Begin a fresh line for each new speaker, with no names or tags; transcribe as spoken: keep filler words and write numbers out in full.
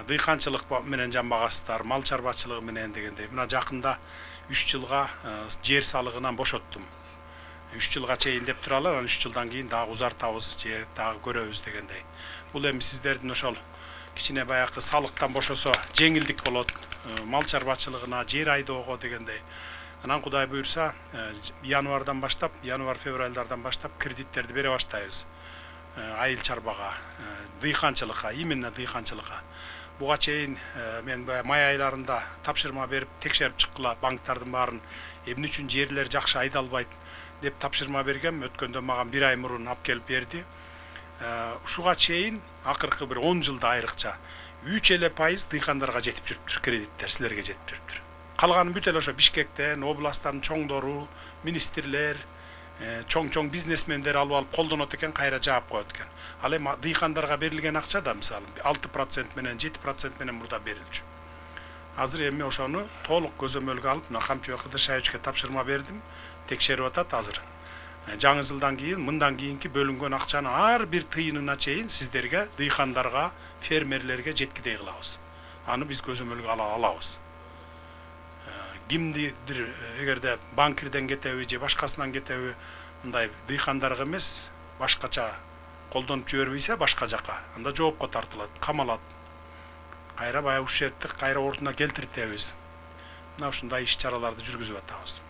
дыйканчылык менен жамбагасыздар, мал чарбачылыгы менен дегендей. Мына жакында үч жылга жер салыгынан бошоттум. үч жылга чейин деп туралы, анан үч жылдан кийин дагы узартабыз, же дагы көрөбүз дегендей. Бул эми сиздердин ошол кичине баягы салыктан бошосо жеңилдик болот, мал чарбачылыгына, жер айдоого дегендей. Анан Кудай буйрса, январдан баштап, январ-февралдардан баштап кредиттерди бере баштайбыз. Айыл чарбага, дыйканчылыкка, именно дыйканчылыкка. Буга чейин мен май айларында тапшырма берип текшерип чыккыла банктардын баарын, эмне үчүн жерлер жакшы айдалбайт деп тапшырма бергем. Өткөндө мага бир ай мурун алып келип берди. Ушуга чейин акыркы бир он жылда айрыкча үч эле пайыз дыйкандарга жетип жүрүптүр, кредиттер силерге жетип жүрүптүр. Калганы бүт эле ошо Бишкектен, областтардын чоңдору, министрлер, чоң-чоң бизнесмендер алып алып колдонот экен, кайра жаап коет экен. Ал эми дыйкандарга берилген акча да мисалы алты процент менен жети процент менен мурда берилчү. Азыр эми ошону толук көзөмөлгө алып, мына Камчыбек Кыдыршаевичке тапшырма бердим, текшерип атат азыр. Жаңы жылдан кийин, мындан кийинки бөлүнгөн акчаны ар бир тыйынына чейин сиздерге, дыйкандарга, фермерлерге жеткидей кылабыз. Аны биз көзөмөлгө ала алабыз. Кимдир эгерде банкирден кетеби же башкасынан кетеби, мындай дыйкандарга эмес, башкача колдонуп жибербейсе башка жака, анда жоопко тартылат, камалат. Кайра баягы ушерттик кайра ордуна келтиртебиз. Мына ушундай иш-чараларды жүргүзүп атабыз.